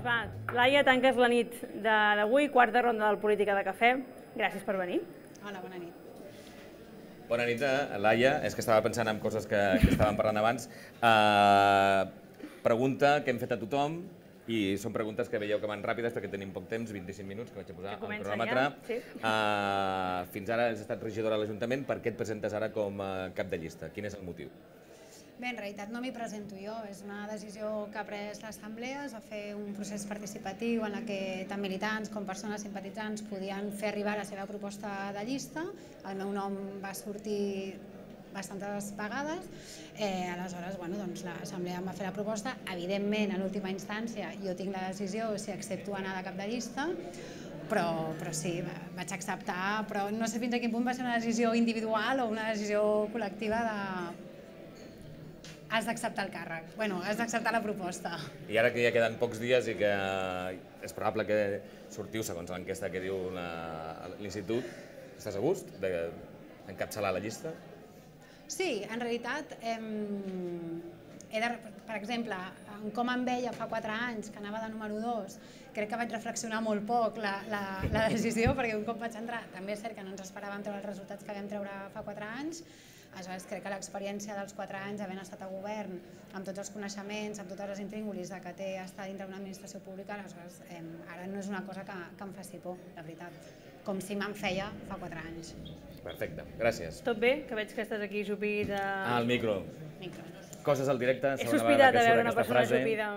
Va, Laia, tanques la nit d'avui, quarta ronda del Política de Cafè. Gràcies per venir. Hola, bona nit. Bona nit, Laia. És que estava pensant en coses que estàvem parlant abans. Pregunta que hem fet a tothom, i són preguntes que veieu que van ràpides perquè tenim poc temps, 25 minuts, que vaig a posar el cronòmetre. Fins ara has estat regidora a l'Ajuntament. Per què et presentes ara com a cap de llista? Quin és el motiu? Bé, en realitat no m'hi presento jo, és una decisió que ha pres l'Assemblea, es va fer un procés participatiu en què tant militants com persones simpatitzants podien fer arribar la seva proposta de llista. El meu nom va sortir bastantes vegades, aleshores l'Assemblea em va fer la proposta. Evidentment, en última instància, jo tinc la decisió si accepto anar de cap de llista, però sí, vaig acceptar, però no sé fins a quin punt va ser una decisió individual o una decisió col·lectiva de has d'acceptar el càrrec, has d'acceptar la proposta. I ara que ja queden pocs dies i que és probable que sortiu, segons l'enquesta que diu l'Institut, estàs a gust d'encapçalar la llista? Sí, en realitat, per exemple, com em veia fa 4 anys, que anava de número 2, crec que vaig reflexionar molt poc la decisió, perquè un cop vaig entrar, també és cert que no ens esperàvem treure els resultats que vam treure fa 4 anys, aleshores crec que l'experiència dels 4 anys, havent estat a govern, amb tots els coneixements, amb totes les intríngulis que té estar dintre d'una administració pública, aleshores ara no és una cosa que em faci por, la veritat, com si me'n feia fa 4 anys. Perfecte, gràcies. Tot bé? Que veig que estàs aquí ajupit a... Al micro. Coses al directe, He sospitat de veure una persona ajupida.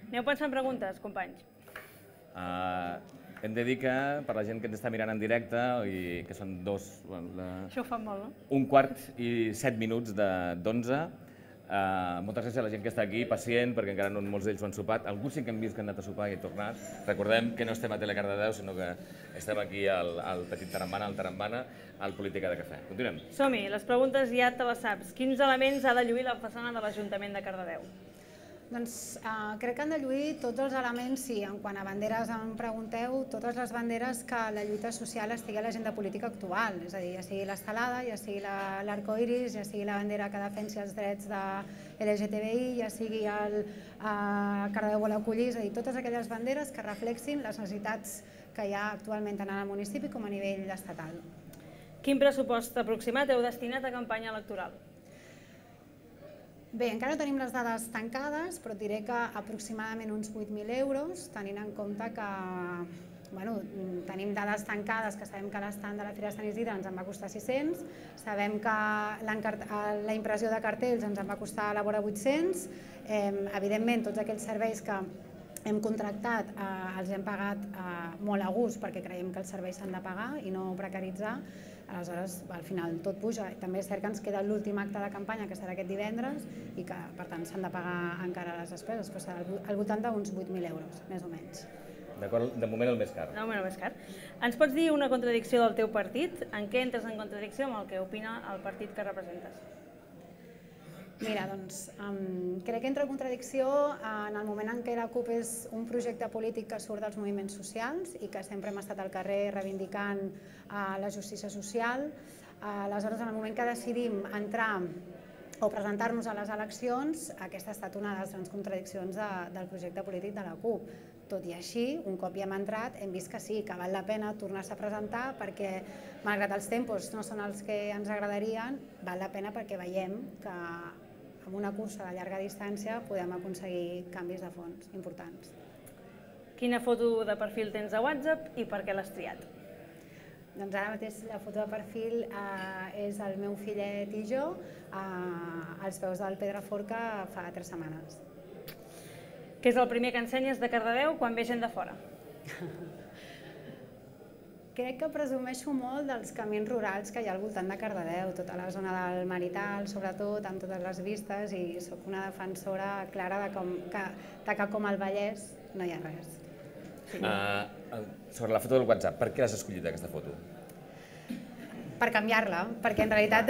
Aneu pensant preguntes, companys? Hem de dir que, per la gent que ens està mirant en directe, i que són Això ho fan molt, no? 1:15 d'11. Moltes gràcies a la gent que està aquí, pacient, perquè encara no molts d'ells ho han sopat. Alguns sí que hem vist que han anat a sopar i he tornat. Recordem que no estem a Telecardedeu, sinó que estem aquí al Petit Tarambana, al Tarambana, al Política de Cafè. Continuem. Som-hi, les preguntes ja te les saps. Quins elements ha de lluir la façana de l'Ajuntament de Cardedeu? Doncs crec que han de lluir tots els elements, sí, en quant a banderes em pregunteu, totes les banderes que la lluita social estigui a l'agenda política actual, és a dir, ja sigui l'estelada, ja sigui l'arcoiris, ja sigui la bandera que defensi els drets de LGTBI, ja sigui el Cardedeu vol acollir, és a dir, totes aquelles banderes que reflexin les necessitats que hi ha actualment tant en el municipi com a nivell estatal. Quin pressupost aproximat heu destinat a campanya electoral? Bé, encara no tenim les dades tancades, però et diré que aproximadament uns 8.000 euros, tenint en compte que tenim dades tancades, que sabem que l'estand de la Fira de Sant Isidre ens en va costar 600, sabem que la impressió de cartells ens en va costar a la vora 800, evidentment tots aquells serveis que hem contractat els hem pagat molt a gust perquè creiem que els serveis s'han de pagar i no precaritzar. Aleshores, al final tot puja. També és cert que ens queda l'últim acte de campanya, que serà aquest divendres, i que, per tant, s'han de pagar encara les despeses, però serà al voltant d'uns 8.000 euros, més o menys. D'acord, de moment el més car. De moment el més car. Ens pots dir una contradicció del teu partit? En què entres en contradicció amb el que opina el partit que representes? Mira, doncs, crec que entra en contradicció en el moment en què la CUP és un projecte polític que surt dels moviments socials i que sempre hem estat al carrer reivindicant la justícia social. Aleshores, en el moment que decidim entrar o presentar-nos a les eleccions, aquesta ha estat una de les grans contradiccions del projecte polític de la CUP. Tot i així, un cop hi hem entrat, hem vist que sí, que val la pena tornar-se a presentar perquè, malgrat els tempos no són els que ens agradarien, val la pena perquè veiem que amb una cursa de llarga distància podem aconseguir canvis de fons importants. Quina foto de perfil tens a WhatsApp i per què l'has triat? Doncs ara mateix la foto de perfil és el meu fillet i jo als peus del Pedraforca fa 3 setmanes. Què és el primer que ensenyes de Cardedeu quan ve gent de fora? Crec que presumeixo molt dels camins rurals que hi ha al voltant de Cardedeu, tota la zona del Marital, sobretot, amb totes les vistes, i sóc una defensora clara de que com al Vallès no hi ha res. Sobre la foto del WhatsApp, per què l'has escollit aquesta foto? Per canviar-la, perquè en realitat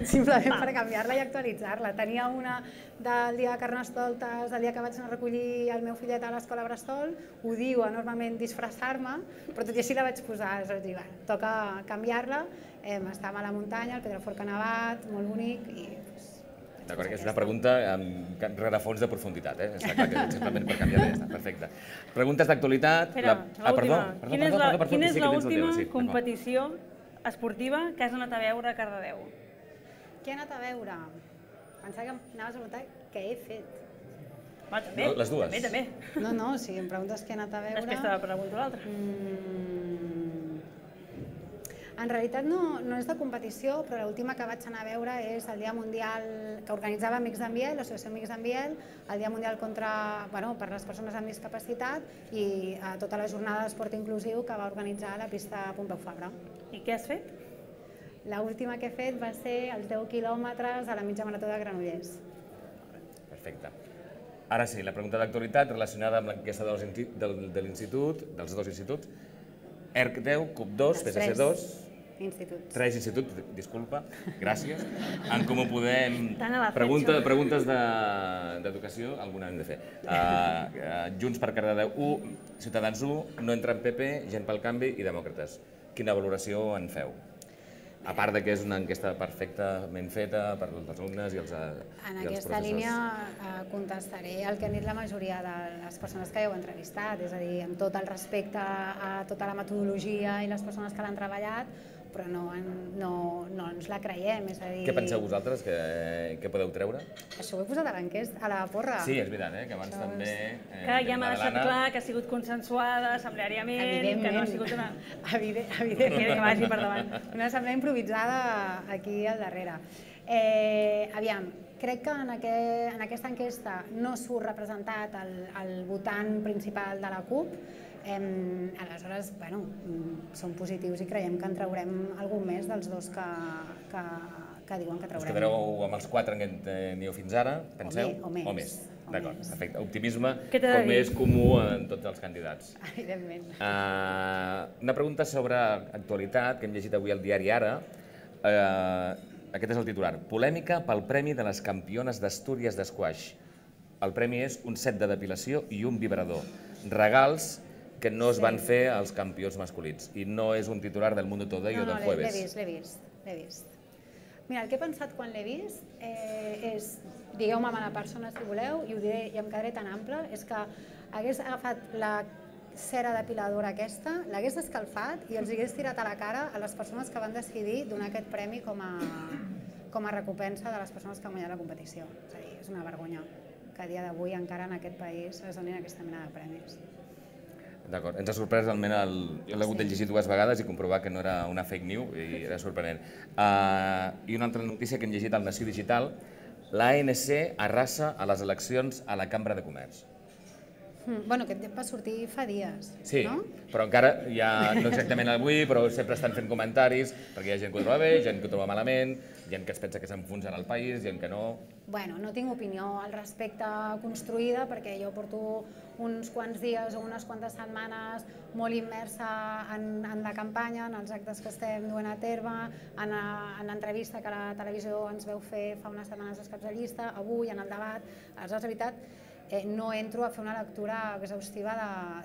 simplement per canviar-la i actualitzar-la. Tenia una del dia de Carnestoltes, del dia que vaig anar a recollir el meu fillet a l'escola Bressol, ho diu enormement disfressar-me, però tot i així la vaig posar, és a dir, toca canviar-la, estàvem a la muntanya, el Pedraforca nevat, molt bonic, i D'acord, que és una pregunta amb rerefons de profunditat, Està clar que simplement per canviar ja està, perfecte. Preguntes d'actualitat... Espera, l'última. Quina és l'última sí, competició esportiva que has anat a veure a Cardedeu? Què he anat a veure? Pensava que anaves a preguntar què he fet. Va, també. Les dues. També. No, si em preguntes què he anat a veure... Després te la pregunto l'altra. En realitat no és de competició, però l'última que vaig anar a veure és el Dia Mundial que organitzava Amics d'en Biel, l'Associació Amics d'en Biel, el Dia Mundial per les persones amb discapacitat i tota la jornada d'esport inclusiu que va organitzar la pista Pompeu Fabra. I què has fet? L'última que he fet va ser els 10 quilòmetres a la mitja marató de Granollers. Perfecte. Ara sí, la pregunta d'actualitat relacionada amb l'enquesta de l'Institut, dels dos instituts. ERC 10, CUP 2, PSC 2... Instituts. 3 instituts, disculpa, gràcies. En Comú Podem, Tant a la preguntes d'educació, alguna hem de fer. Junts per Cardedeu 1, Ciutadans 1, No entra en PP, Gent pel Canvi i Demòcrates. Quina valoració en feu? A part de que és una enquesta perfectament feta per als alumnes i els professors. En aquesta línia contestaré el que han dit la majoria de les persones que heu entrevistat, és a dir, amb tot el respecte a tota la metodologia i les persones que l'han treballat, però no ens la creiem, és a dir... Què penseu vosaltres que podeu treure? Això ho he posat a l'enquesta, a la porra. Sí, és veritat, que abans també... Que ja m'ha deixat clar que ha sigut consensuada assembleàriament, que no ha sigut una... Evidentment. Que vagi per davant. Una assemblea improvisada aquí al darrere. Aviam, crec que en aquesta enquesta no surt representat el votant principal de la CUP. Aleshores, som positius i creiem que en traurem algun més dels dos que diuen que traurem. Us quedareu amb els 4 en què teniu fins ara, penseu? O més. D'acord, perfecte. Optimisme com és comú en tots els candidats. Evidentment. Una pregunta sobre actualitat que hem llegit avui al diari Ara. Aquest és el titular. Polèmica pel Premi de les Campiones d'Astúries d'Esquaix. El premi és un set de depilació i un vibrador. Regals que no es van fer als campions masculins. I no és un titular del Mundo Today o del Jueves. L'he vist. Mira, el que he pensat quan l'he vist és, digueu-me mala persona si voleu, i ho diré i em quedaré tan ample, és que hagués agafat la cera depiladora aquesta, l'hagués escalfat i els hagués tirat a la cara a les persones que van decidir donar aquest premi com a recompensa de les persones que han guanyat la competició. És a dir, és una vergonya que a dia d'avui encara en aquest país es donin aquesta mena de premis. D'acord, ens ha sorprès realment, jo l'he hagut de llegir 2 vegades i comprovar que no era una fake news i era sorprenent. I una altra notícia que hem llegit al Nació Digital, l'ANC arrasa a les eleccions a la Cambra de Comerç. Bueno, aquest va sortir fa dies, no? Sí, però encara ja, no exactament avui, però sempre estan fent comentaris, perquè hi ha gent que ho troba bé, gent que ho troba malament, gent que es pensa que s'enfonsarà el país, gent que no... Bueno, no tinc opinió al respecte construïda, perquè jo porto uns quants dies o unes quantes setmanes molt immersa en la campanya, en els actes que estem duent a terme, en l'entrevista que la televisió ens veu fer fa unes setmanes als caps de llista, avui, en el debat. Aleshores, de veritat, no entro a fer una lectura exhaustiva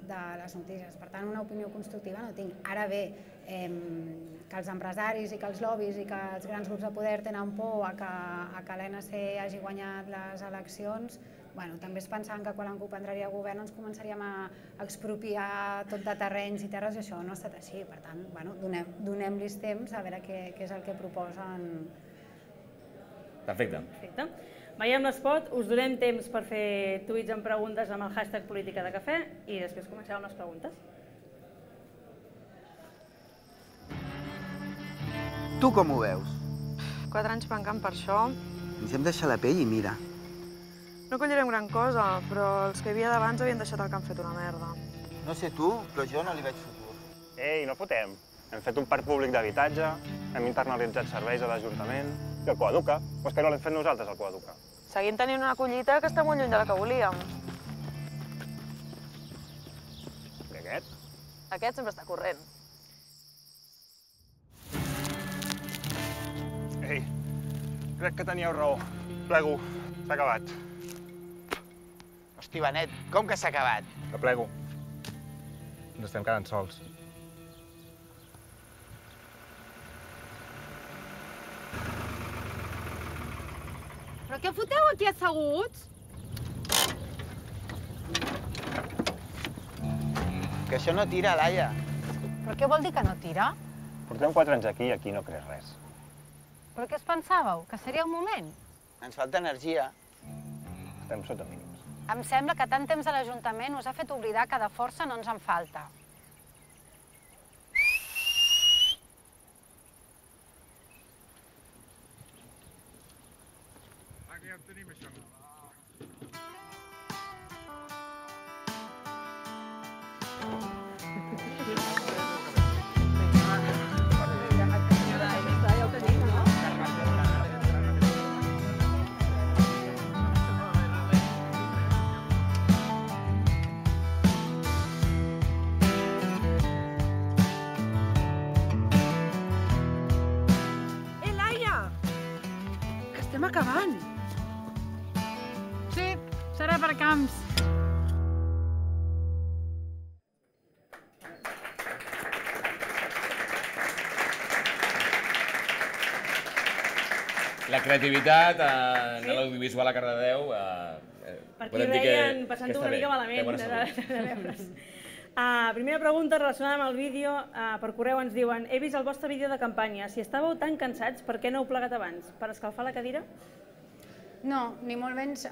de les notícies. Per tant, una opinió constructiva no tinc. Ara bé, que els empresaris i que els lobbies i que els grans grups de poder tenen por a que l'ANC hagi guanyat les eleccions, també es pensaven que quan la CUP entraria al govern ens començaríem a expropiar tot de terrenys i terres i això no ha estat així. Per tant, donem-los temps a veure què és el que proposen. Perfecte. Veiem l'espot, us donem temps per fer tuits amb preguntes amb el hashtag política de cafè i després comencem amb les preguntes. Tu com ho veus? 4 anys pencant per això. Ens hem deixat la pell i mira. No collirem gran cosa, però els que hi havia d'abans havien deixat el que han fet una merda. No sé tu, però jo no li veig futur. Ei, no fotem. Hem fet un parc públic d'habitatge, hem internalitzat serveis a l'Ajuntament i el Coeduca. O és que no l'hem fet nosaltres, el Coeduca? Seguim tenint una collita que està molt lluny de la que volíem. I aquest? Aquest sempre està corrent. Ei, crec que teníeu raó. Plego, s'ha acabat. Hosti, Benet, com que s'ha acabat? Que plego. Ens estem quedant sols. Però què foteu aquí asseguts? Que això no tira, Laia. Però què vol dir que no tira? Portem 4 anys aquí i aquí no creix res. Però què es pensàveu? Que seria un moment? Ens falta energia. Estem sota mínims. Em sembla que tant temps a l'Ajuntament us ha fet oblidar que de força no ens en falta. Aquí ja tenim això. Estem acabant. Sí, serà per camps. La creativitat en l'audiovisual a Cardedeu... Per aquí ho deien, passant-ho una mica malament de veure's. Primera pregunta relacionada amb el vídeo. Per correu ens diuen: he vist el vostre vídeo de campanya. Si estàveu tan cansats, per què no heu plegat abans? Per escalfar la cadira? No, ni molt menys.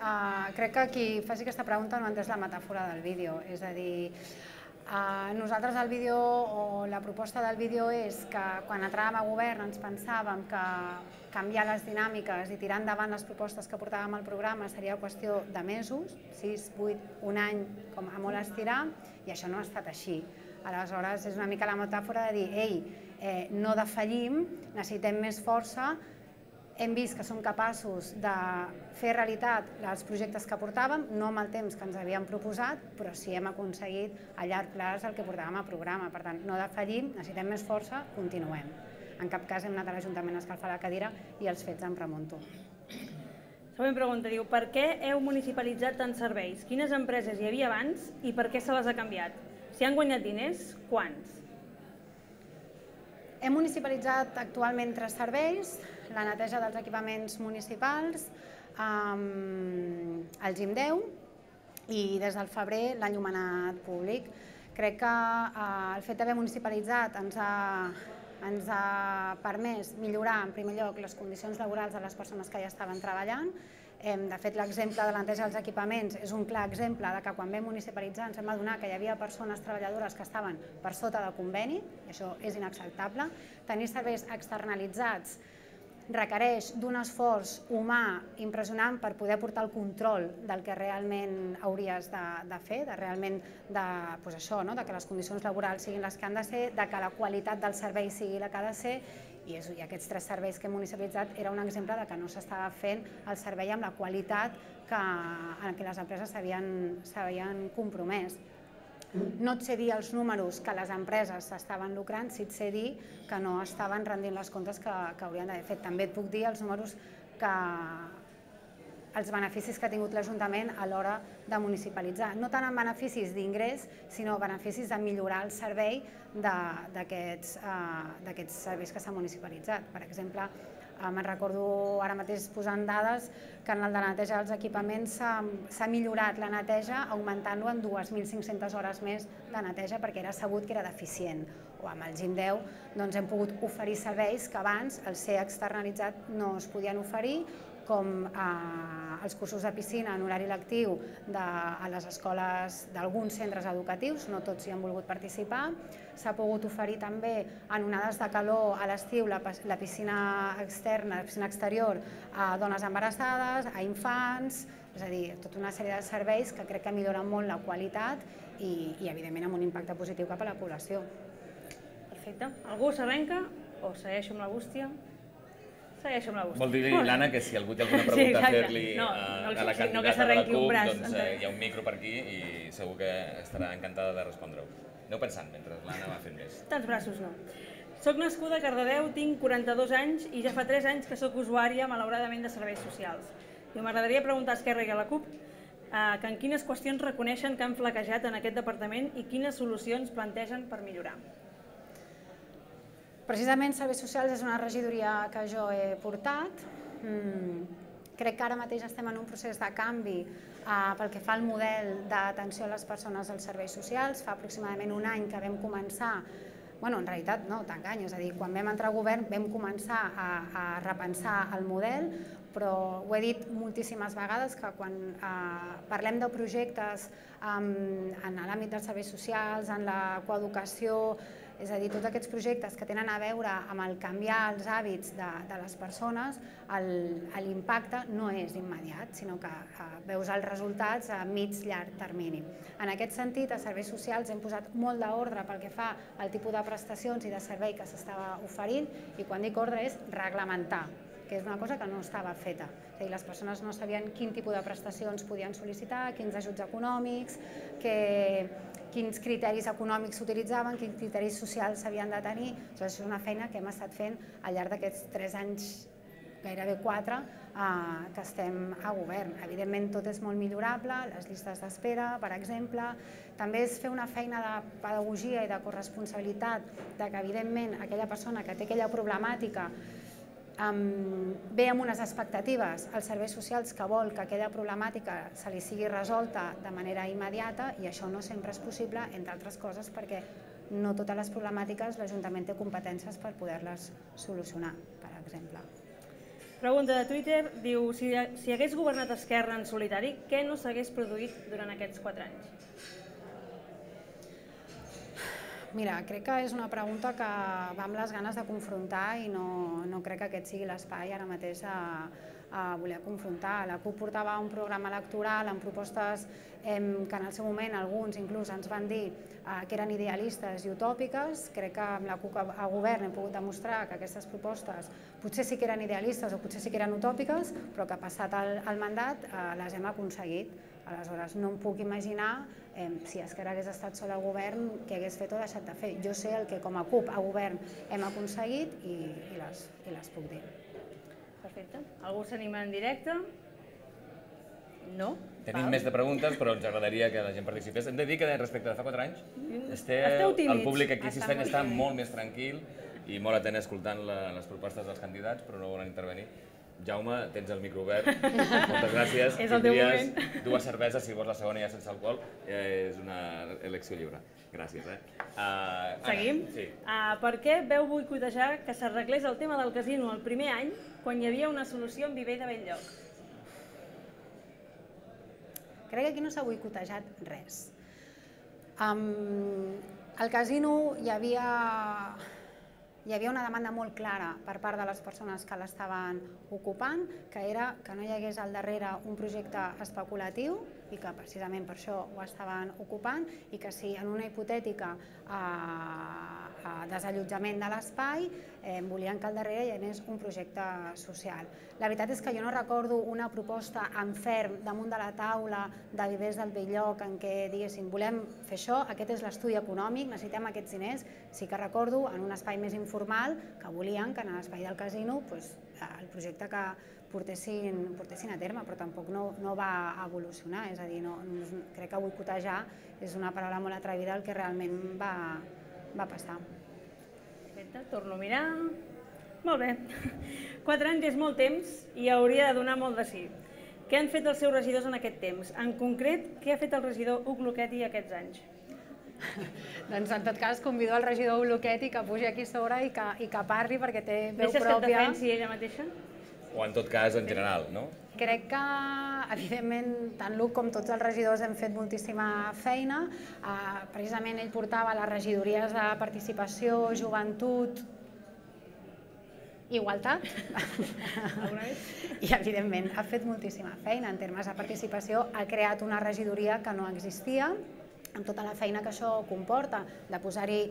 Crec que qui faci aquesta pregunta no ha entès la metàfora del vídeo. És a dir, nosaltres el vídeo o la proposta del vídeo és que quan entràvem a govern ens pensàvem que canviar les dinàmiques i tirar endavant les propostes que portàvem al programa seria qüestió de mesos, 6, 8, un any, com a molt estirar, i això no ha estat així. Aleshores, és una mica la metàfora de dir, ei, no defallim, necessitem més força, hem vist que som capaços de fer realitat els projectes que portàvem, no amb el temps que ens havíem proposat, però sí hem aconseguit a llarg plaç el que portàvem al programa. Per tant, no defallim, necessitem més força, continuem. En cap cas hem anat a l'Ajuntament a escalfar la cadira i els fets em remunto. Següent pregunta, diu: per què heu municipalitzat tants serveis? Quines empreses hi havia abans i per què se les ha canviat? Si han guanyat diners, quants? Hem municipalitzat actualment 3 serveis: la neteja dels equipaments municipals, el Gim 10 i des del febrer l'enllumenat públic. Crec que el fet d'haver municipalitzat ens ha permès millorar, en primer lloc, les condicions laborals de les persones que ja estaven treballant. De fet, l'exemple de la neteja dels equipaments és un clar exemple de que quan vam municipalitzar ens vam adonar que hi havia persones treballadores que estaven per sota de conveni, i això és inacceptable. Tenir serveis externalitzats requereix d'un esforç humà impressionant per poder portar el control del que realment hauries de fer, de realment de que les condicions laborals siguin les que han de ser, de que la qualitat del servei sigui la que ha de ser, i aquests 3 serveis que hem municipalitzat era un exemple de que no s'estava fent el servei amb la qualitat en què les empreses s'havien compromès. No et sé dir els números que les empreses s'estaven lucrant, sí et sé dir que no estaven rendint les comptes que haurien d'haver fet. També et puc dir els números els beneficis que ha tingut l'Ajuntament a l'hora de municipalitzar. No tant en beneficis d'ingrés, sinó beneficis de millorar el servei d'aquests serveis que s'han municipalitzat. Per exemple, me'n recordo ara mateix posant dades que en el de la neteja dels equipaments s'ha millorat la neteja augmentant-lo en 2.500 hores més de neteja perquè era sabut que era deficient. O amb el Gim 10 hem pogut oferir serveis que abans, al ser externalitzat, no es podien oferir, com els cursos de piscina en horari lectiu a les escoles d'alguns centres educatius, no tots hi han volgut participar. S'ha pogut oferir també en onades de calor a l'estiu la piscina externa, la piscina exterior a dones embarassades, a infants, és a dir, tota una sèrie de serveis que crec que milloren molt la qualitat i evidentment amb un impacte positiu cap a la població. Perfecte. Algú s'arrenca o segueixo amb la bústia? Segueixo amb la bústia. Vol dir, Lana, que si algú té alguna pregunta a fer-li a la candidata de la CUP, doncs hi ha un micro per aquí i segur que estarà encantada de respondre-ho. Aneu pensant mentre l'Anna va fent més. Tants braços no. Soc nascuda a Cardedeu, tinc 42 anys i ja fa 3 anys que soc usuària, malauradament, de serveis socials. M'agradaria preguntar a Esquerra i a la CUP que en quines qüestions reconeixen que han flaquejat en aquest departament i quines solucions plantegen per millorar. Precisament Serveis Socials és una regidoria que jo he portat. Crec que ara mateix estem en un procés de canvi pel que fa al model d'atenció a les persones als serveis socials. Fa aproximadament un any que vam començar, en realitat no, t'enganyo, és a dir, quan vam entrar a govern vam començar a repensar el model, però ho he dit moltíssimes vegades que quan parlem de projectes en l'àmbit dels serveis socials, en la coeducació, és a dir, tots aquests projectes que tenen a veure amb el canviar els hàbits de les persones, l'impacte no és immediat, sinó que veus els resultats a mig-llarg termini. En aquest sentit, a serveis socials hem posat molt d'ordre pel que fa al tipus de prestacions i de servei que s'estava oferint, i quan dic ordre és reglamentar, que és una cosa que no estava feta. És a dir, les persones no sabien quin tipus de prestacions podien sol·licitar, quins ajuts econòmics, quins criteris econòmics s'utilitzaven, quins criteris socials s'havien de tenir. Això és una feina que hem estat fent al llarg d'aquests 3 anys, gairebé 4, que estem a govern. Evidentment tot és molt millorable, les llistes d'espera, per exemple. També és fer una feina de pedagogia i de corresponsabilitat, que evidentment aquella persona que té aquella problemàtica ve amb unes expectatives als serveis socials que vol que aquella problemàtica se li sigui resolta de manera immediata, i això no sempre és possible, entre altres coses perquè no totes les problemàtiques l'Ajuntament té competències per poder-les solucionar, per exemple. Pregunta de Twitter, diu, si hagués governat Esquerra en solitari, què no s'hagués produït durant aquests 4 anys? Mira, crec que és una pregunta que va amb les ganes de confrontar i no crec que aquest sigui l'espai ara mateix a voler confrontar. La CUP portava un programa electoral amb propostes que en el seu moment alguns inclús ens van dir que eren idealistes i utòpiques. Crec que amb la CUP a govern hem pogut demostrar que aquestes propostes potser sí que eren idealistes o potser sí que eren utòpiques, però que passat el mandat les hem aconseguit. Aleshores, no em puc imaginar si Esquerra hagués estat sola al govern què hagués fet o deixat de fer. Jo sé el que com a CUP a govern hem aconseguit i les puc dir. Perfecte. Algú s'anima en directe? No? Tenim més de preguntes, però ens agradaria que la gent participés. Hem de dir que respecte de fa 4 anys, el públic aquí assistent està molt més tranquil i molt atent escoltant les propostes dels candidats, però no volen intervenir. Jaume, tens el micro obert. Moltes gràcies. És el teu moment. Tindries 2 cerveses, si vols la segona ja sense alcohol. És una elecció lliure. Gràcies. Seguim? Sí. Per què veu boicotejar que s'arreglés el tema del casino el primer any quan hi havia una solució en Viver de Belllloc? Crec que aquí no s'ha boicotejat res. Al casino hi havia una demanda molt clara per part de les persones que l'estaven ocupant, que era que no hi hagués al darrere un projecte especulatiu i que precisament per això ho estaven ocupant, i que si en una hipotètica desallotjament de l'espai volien que al darrere hi anés un projecte social. La veritat és que jo no recordo una proposta en ferm damunt de la taula de Vivers del Belllloc en què diguessin volem fer això, aquest és l'estudi econòmic, necessitem aquests diners. Sí que recordo en un espai més informal que volien que en l'espai del casino el projecte que portessin a terme, però tampoc no va evolucionar. És a dir, crec que boicotejar és una paraula molt atrevida el que realment va passar. Perfecte, torno a mirar. Molt bé. 4 anys és molt temps i hauria de donar molt de sí. Què han fet els seus regidors en aquest temps? En concret, què ha fet el regidor Hug Luchetti aquests anys? Doncs en tot cas convido el regidor Hug Luchetti que pugi aquí a sobre i que parli perquè té veu pròpia. Deixes que et defensi ella mateixa? O en tot cas en general, no? Crec que, evidentment, tant l'Hug com tots els regidors hem fet moltíssima feina. Precisament ell portava les regidories de participació, joventut, igualtat. I, evidentment, ha fet moltíssima feina en termes de participació. Ha creat una regidoria que no existia, amb tota la feina que això comporta, de posar-hi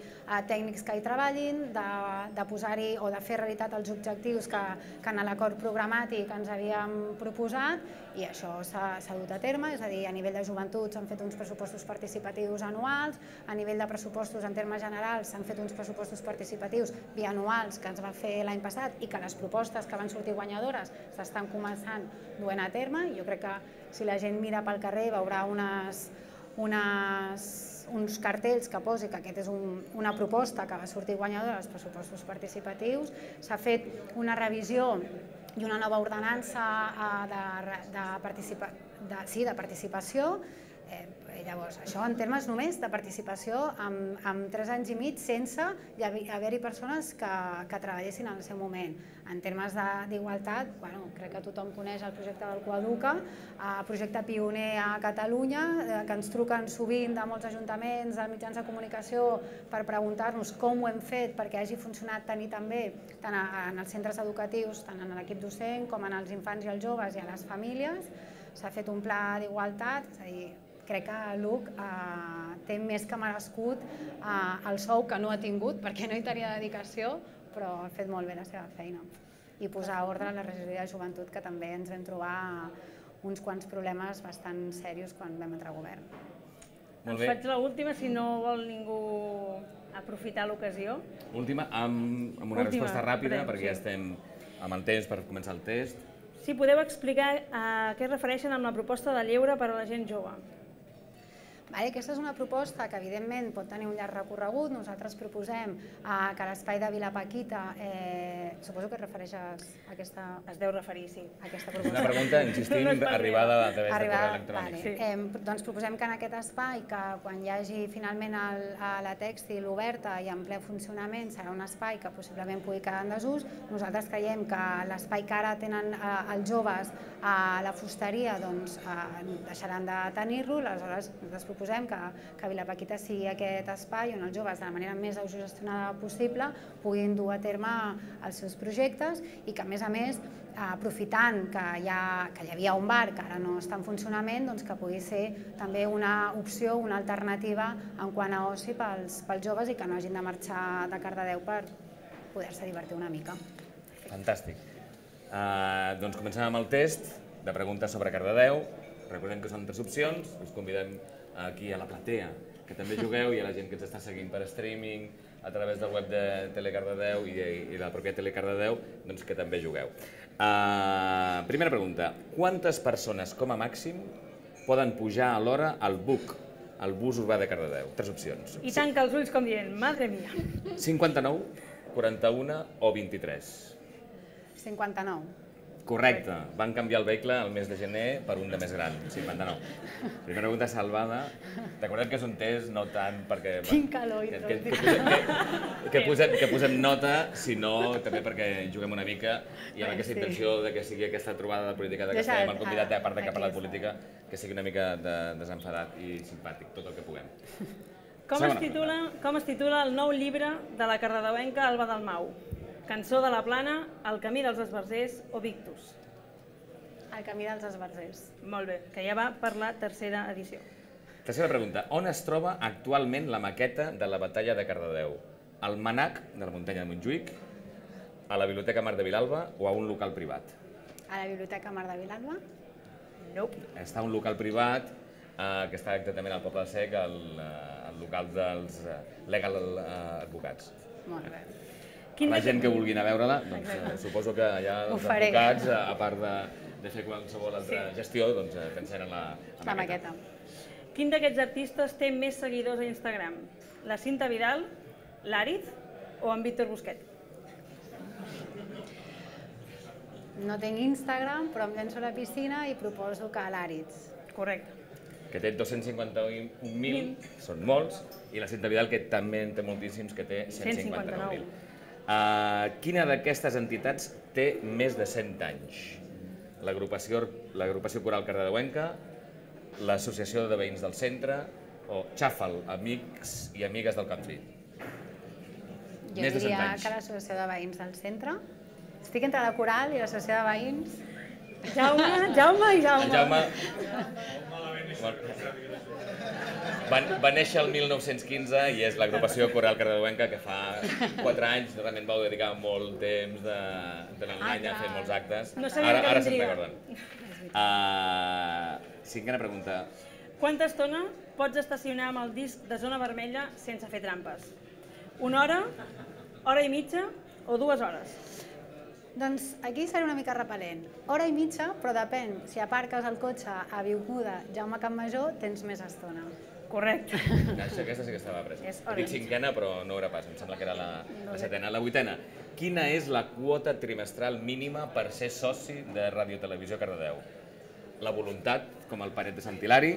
tècnics que hi treballin, de posar-hi o de fer realitat els objectius que en l'acord programàtic ens havíem proposat, i això s'ha dut a terme. És a dir, a nivell de joventut s'han fet uns pressupostos participatius anuals, a nivell de pressupostos en termes generals s'han fet uns pressupostos participatius bianuals que ens va fer l'any passat i que les propostes que van sortir guanyadores s'estan començant duent a terme. Jo crec que si la gent mira pel carrer veurà uns cartells que posi que aquesta és una proposta que va sortir guanyadora dels pressupostos participatius. S'ha fet una revisió i una nova ordenança de participació. Llavors, això en termes només de participació, amb 3 anys i mig sense haver-hi persones que treballessin en el seu moment. En termes d'igualtat, crec que tothom coneix el projecte del Coeduca, projecte pioner a Catalunya, que ens truquen sovint de molts ajuntaments, de mitjans de comunicació, per preguntar-nos com ho hem fet perquè hagi funcionat tan i tan bé, tant en els centres educatius, tant en l'equip docent, com en els infants i els joves i a les famílies. S'ha fet un pla d'igualtat, és a dir, crec que l'Uc té més que merescut el sou que no ha tingut perquè no hi tenia dedicació, però ha fet molt bé la seva feina. I posar ordre a la regidoria de joventut, que també ens vam trobar uns quants problemes bastant serios quan vam entrar a govern. Us faig l'última, si no vol ningú aprofitar l'ocasió. Última, amb una resposta ràpida, perquè ja estem amb el temps per començar el test. Si podeu explicar a què es refereixen amb la proposta de lleure per a la gent jove. Aquesta és una proposta que evidentment pot tenir un llarg recorregut. Nosaltres proposem que l'espai de Vila Paquita, suposo que et refereixes a aquesta... Es deu referir, sí. És una pregunta, insistim, arribada a través de correu electrònic. Doncs proposem que en aquest espai, que quan hi hagi finalment la tèxtil oberta i en ple funcionament, serà un espai que possiblement pugui quedar en desús. Nosaltres creiem que l'espai que ara tenen els joves a la fusteria, doncs deixaran de tenir-lo. Aleshores, nosaltres proposem que Vila Paquita sigui aquest espai on els joves, de la manera més autogestionada possible, puguin dur a terme els seus projectes i que, a més, aprofitant que hi havia un bar que ara no està en funcionament, que pugui ser també una opció, una alternativa en quant a oci pels joves i que no hagin de marxar de Cardedeu per poder-se divertir una mica. Fantàstic. Doncs comencem amb el test de preguntes sobre Cardedeu. Recordem que són 3 opcions, us convidem aquí a la platea que també jugueu i a la gent que ens està seguint per streaming a través del web de Telecardedeu i de la pròpia Telecardedeu, doncs que també jugueu. Primera pregunta, quantes persones com a màxim poden pujar alhora al BUC, el bus urbà de Cardedeu? 3 opcions. I tanca els ulls com dient, madre mia. 59, 41 o 23? 59. Correcte. Van canviar el vehicle el mes de gener per un de més gran, 59. Primera pregunta salvada. Recordem que és un test no tant perquè... Quin calor i tot. Que posem nota, sinó també perquè juguem una mica i amb aquesta intenció que sigui aquesta trobada de política de que estem el convidat, a part de que ha parlat de política, que sigui una mica desenfadat i simpàtic, tot el que puguem. Com es titula el nou llibre de la cardedeuenca Alba Dalmau? Cançó de la Plana, El camí dels esbarzers o Victus? El camí dels esbarzers. Molt bé, que ja va per la 3a edició. Tercera pregunta. On es troba actualment la maqueta de la batalla de Cardedeu? Al MNAC de la muntanya de Montjuïc, a la Biblioteca Mar de Vilalba o a un local privat? A la Biblioteca Mar de Vilalba? Nope. Està a un local privat que està exactament al Poble Sec, al local dels Legal Advocats. Molt bé. La gent que vulgui anar a veure-la, doncs suposo que allà els advocats, a part de fer qualsevol altra gestió, doncs t'encenen la maqueta. Quin d'aquests artistes té més seguidors a Instagram? La Cinta Vidal, l'Àriz o en Víctor Busquet? No tinc Instagram, però em llenço a la piscina i proposo que l'Àriz. Correcte. Que té 251.000, són molts, i la Cinta Vidal, que també en té moltíssims, que té 159.000. Quina d'aquestes entitats té més de 100 anys? L'agrupació coral cardedeuenca, l'associació de veïns del centre o Xàfal, amics i amigues del Camp Fri? Jo diria que l'associació de veïns del centre. Estic entre la coral i l'associació de veïns. Jaume i Jaume. Jaume va néixer el 1915 i és l'agrupació coral cardedeuenca que fa 4 anys realment vau dedicar molt temps de l'engany a fer molts actes. Ara se'n recorden. 5a pregunta. Quanta estona pots estacionar amb el disc de zona vermella sense fer trampes? 1 hora, hora i mitja o 2 hores? Doncs aquí seré una mica repel·lent. Hora i mitja, però depèn. Si aparques el cotxe a Avinguda Jaume Campmajor, tens més estona. Correcte. Aquesta sí que estava presa. Dic 5a, però no era pas, em sembla que era la 7a. La 8a. quina és la quota trimestral mínima per ser soci de Ràdio Televisió Cardedeu? La voluntat, com el paret de Sant Hilari,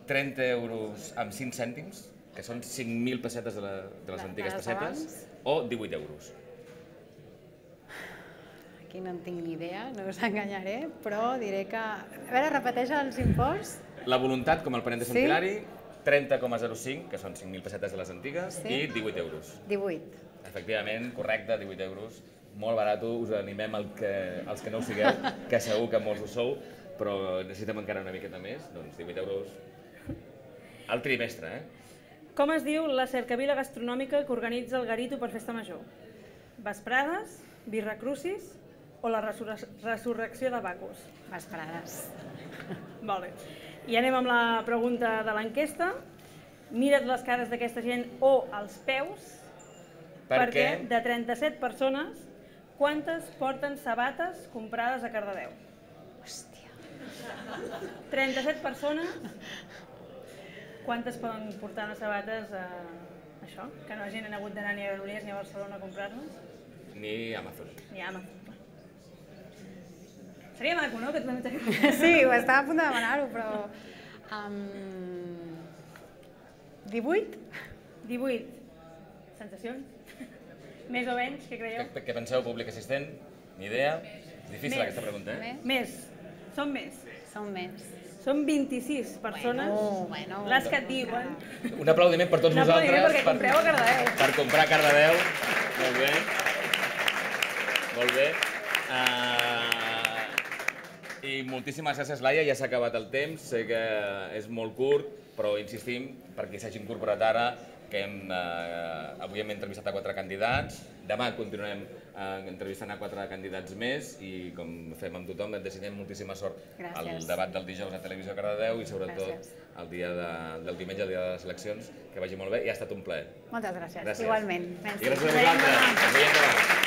30 euros amb 5 cèntims, que són 5.000 pessetes de les antigues pessetes, o 18 euros. Aquí no en tinc ni idea, no us enganyaré, però diré que... A veure, repeteix els imports. La voluntat, com el paret de Sant Hilari, 30,05, que són 5.000 pessetes de les antigues, i 18 euros. 18. Efectivament, correcte, 18 euros. Molt barat, us animem els que no ho sigueu, que segur que molts ho sou, però necessitem encara una miqueta més, doncs 18 euros al trimestre, Com es diu la cercavila gastronòmica que organitza el Garito per Festa Major? Vesprades, Birra Crucis o la resurrecció de Bacus? Vesprades. Molt bé. I anem amb la pregunta de l'enquesta. Mira't les cares d'aquesta gent o els peus, perquè de 37 persones, quantes porten sabates comprades a Cardedeu? Hòstia. 37 persones, quantes poden portar unes sabates a això? Que no hagin hagut d'anar ni a Granollers ni a Barcelona a comprar-les? Ni Amazon. Ni a Amazon. Seria maco, no? Sí, ho estava a punt de demanar-ho, però... 18? 18. Sensacions? Més o menys, què creieu? Què penseu, públic assistent? Ni idea? Difícil aquesta pregunta, Més. Són més. Són més. Són 26 persones les que et diuen. Un aplaudiment per tots vosaltres. Un aplaudiment perquè compreu a Cardedeu. Per comprar a Cardedeu. Molt bé. Molt bé. I moltíssimes gràcies, Laia. Ja s'ha acabat el temps. Sé que és molt curt, però insistim, per qui s'hagi incorporat ara, que avui hem entrevistat a 4 candidats. Demà continuarem entrevistant a 4 candidats més i, com fem amb tothom, et desitgem moltíssima sort al debat del dijous a Televisió Cardedeu i sobretot el dia del diumenge, el dia de les eleccions, que vagi molt bé i ha estat un plaer. Moltes gràcies. Igualment. I gràcies a vosaltres. Ens veiem demà.